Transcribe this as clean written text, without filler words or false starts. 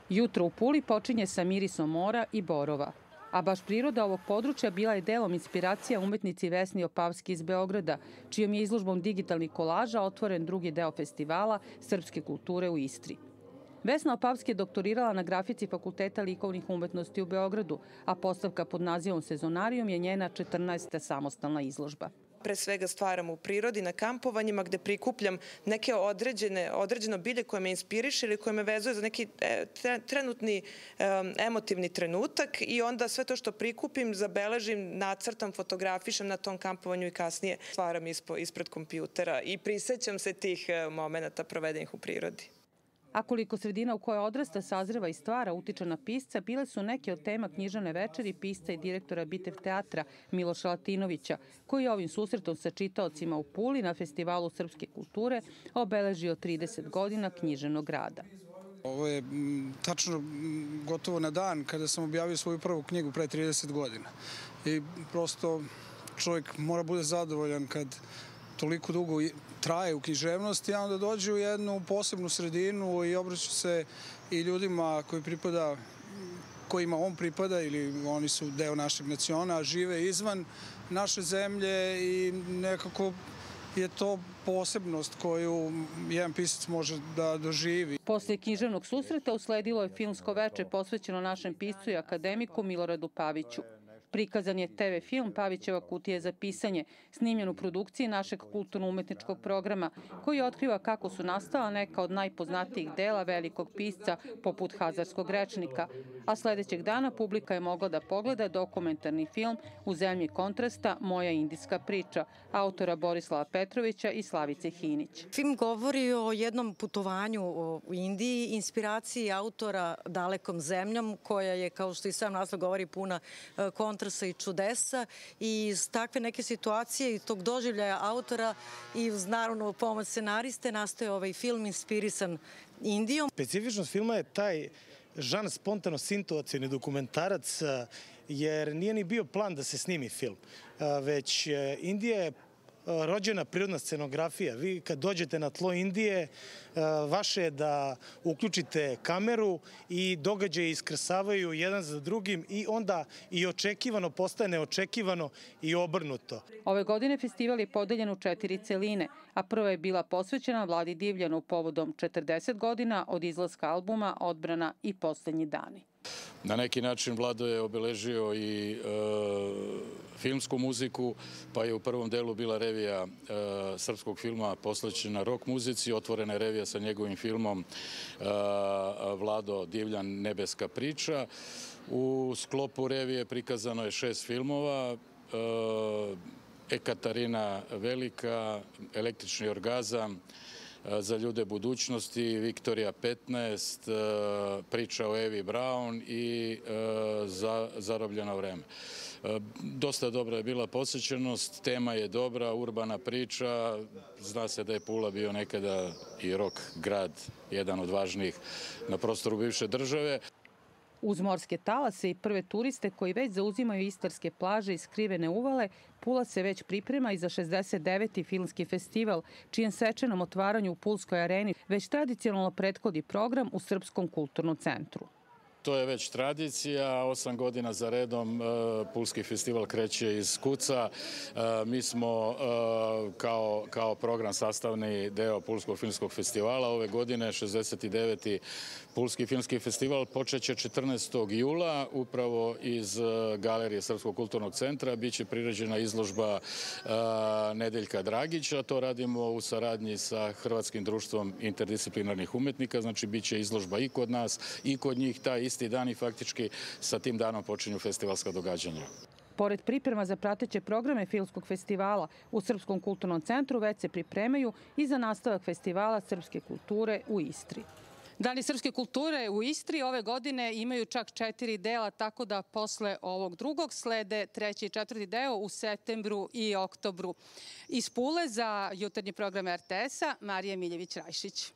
Jutro u Puli počinje sa mirisom mora i borova. A baš priroda ovog područja bila je delom inspiracija umetnici Vesni Opavski iz Beograda, čijom je izložbom digitalnih kolaža otvoren drugi deo festivala srpske kulture u Istri. Vesna Opavski je doktorirala na grafici Fakulteta likovnih umetnosti u Beogradu, a postavka pod nazivom Sezonarijum je njena 14. samostalna izložba. Pre svega stvaram u prirodi, na kampovanjima gde prikupljam neke određeno bilje koje me inspiriše ili koje me vezuje za neki trenutni emotivni trenutak i onda sve to što prikupim, zabeležim, nacrtam, fotografišem na tom kampovanju i kasnije stvaram ispred kompjutera i prisećam se tih momenata provedenih u prirodi. A koliko sredina u kojoj odrasta, sazreva i stvara utiče na pisca, bile su neke od tema književne večeri pisca i direktora Bitev teatra Miloša Latinovića, koji je ovim susretom sa čitaocima u Puli na Festivalu srpske kulture obeležio 30 godina književnog rada. Ovo je tačno gotovo na dan kada sam objavio svoju prvu knjigu pre 30 godina. I prosto čovjek mora bude zadovoljan kad toliko dugo traje u književnosti, a onda dođe u jednu posebnu sredinu i obraća se i ljudima kojima on pripada ili oni su deo našeg naciona, a žive izvan naše zemlje i nekako je to posebnost koju jedan pisac može da doživi. Posle književnog susreta usledilo je filmsko veče posvećeno našem piscu i akademiku Miloradu Paviću. Prikazan je TV film Pavićeva kutija za pisanje, snimljen u produkciji našeg kulturno-umetničkog programa, koji otkriva kako su nastala neka od najpoznatijih dela velikog pisca poput Hazarskog rečnika, a sledećeg dana publika je mogla da pogleda dokumentarni film U zemlji kontrasta Moja indijska priča, autora Borislava Petrovića i Slavice Hinić. Film govori o jednom putovanju u Indiji, inspiraciji autora Dalekom zemljom, koja je, kao što i sam naslov govori, puna kontrasta i čudesa i iz takve neke situacije i tog doživljaja autora i uz naravno pomoć scenariste nastaje ovaj film inspirisan Indijom. Specifičnost filma je taj žan spontano-situacioni dokumentarac, jer nije ni bio plan da se snimi film, već Indija je rođena prirodna scenografija. Vi kad dođete na tlo Indije, vaše je da uključite kameru i događaje iskrsavaju jedan za drugim i onda i očekivano postaje neočekivano i obrnuto. Ove godine festival je podeljen u 4 celine, a prva je bila posvećena Vladi Divljanu povodom 40 godina od izlaska albuma Odbrana i poslednji dani. Na neki način Vlado je obeležio i filmsku muziku, pa je u prvom delu bila revija srpskog filma posvećena rock muzici, otvorena je revija sa njegovim filmom Vlado Divljan Nebeska priča. U sklopu revije prikazano je 6 filmova, Ekaterina Velika, Električni orgazam, Za ljude budućnosti, Viktorija 15, Priča o Evi Braun i Zarobljeno vreme. Dosta dobra je bila posvećenost, tema je dobra, urbana priča, zna se da je Pula bio nekada i rock grad, jedan od važnijih na prostoru bivše države. Uz morske talase i prve turiste koji već zauzimaju istarske plaže i skrivene uvale, Pula se već priprema i za 69. filmski festival, čijem svečanom otvaranju u Pulskoj areni već tradicionalno prethodi program u Srpskom kulturnom centru. To je već tradicija, 8 godina za redom Pulski festival kreće iz kuca. Mi smo kao program sastavni deo Pulskog filmskog festivala. Ove godine 69. Pulski filmski festival počeće 14. jula upravo iz Galerije Srpskog kulturnog centra. Biće priređena izložba Nedeljka Dragića. To radimo u saradnji sa Hrvatskim društvom interdisciplinarnih umetnika. Znači, biće izložba i kod nas i kod njih taj isti dan i faktički sa tim danom počinju festivalska događanja. Pored priprema za prateće programe filmskog festivala u Srpskom kulturnom centru već se pripremaju i za nastavak festivala srpske kulture u Istri. Dani srpske kulture u Istri ove godine imaju čak 4 dela, tako da posle ovog drugog slede 3. i 4. deo u septembru i oktobru. Iz Pule za jutarnji program RTS-a Marija Miljević-Rajšić.